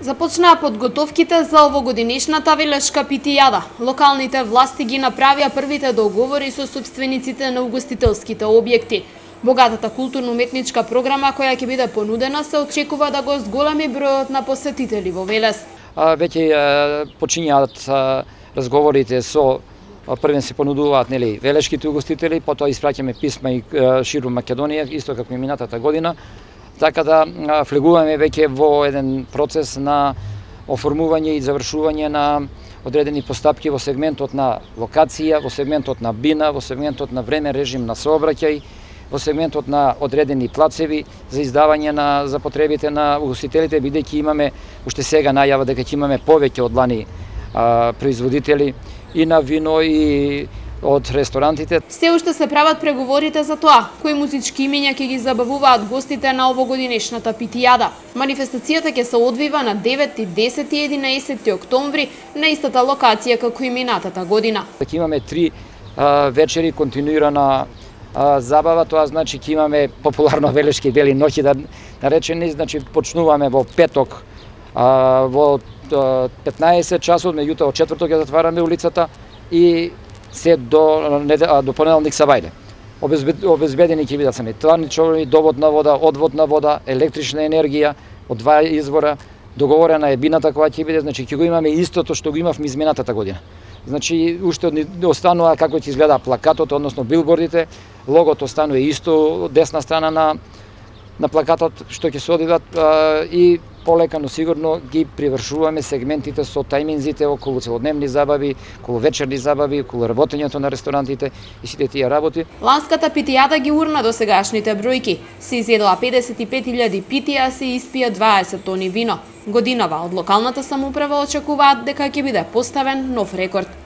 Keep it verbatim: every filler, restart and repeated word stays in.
Започнаа подготовките за овогодинешната велешка питијада. Локалните власти ги направија првите договори со сопствениците на угостителските објекти. Богатата културно-уметничка програма која ќе биде понудена се очекува да го зголеми бројот на посетители во Велес. Веќе почињаат разговорите со првен се понудуваат нели велешките угостители, потоа испраќаме писма и ширум Македонија, исто како и минатата година. Така да влегуваме веќе во еден процес на оформување и завршување на одредени постапки во сегментот на локација, во сегментот на бина, во сегментот на време режим на сообраќај, во сегментот на одредени плацеви за издавање на за потребите на угостителите, бидејќи имаме уште сега најава дека ќе имаме повеќе од лани а, производители и на вино и од ресторантите. Се уште се прават преговорите за тоа, кои музички имиња ќе ги забавуваат гостите на овогодинешната питијада. Манифестацијата ќе се одвива на деветти, десети и единаесетти октомври на истата локација како и минатата година. Ќе имаме три а, вечери континуирана а, забава, тоа значи ќе имаме популарно велешки бели ноќи да наречени, значи почнуваме во петок а, во петнаесет часот, меѓутоа од четврток ќе затвараме улицата и се до, до понеделник сабајле. Обезбедени ќе бидат санитарни човери, довод на вода, одвод на вода, електрична енергија од два извора, договорена е бината која ќе биде, значи ќе го имаме истото што го имавме изминатата година. Значи уште останува како ќе изгледа плакатот, односно билбордите, логото останува исто од десна страна на на плакатот што ќе се одидат и полека, но сигурно ги привршуваме сегментите со тајминзите околу целодневни забави, околу вечерни забави, околу работењето на ресторантите и сите тие работи. Ланската питијада ги урна до сегашните бројки. Се изедоа педесет и пет илјади питија, се испија дваесет тони вино. Годинава од локалната самоуправа очекуваат дека ќе биде поставен нов рекорд.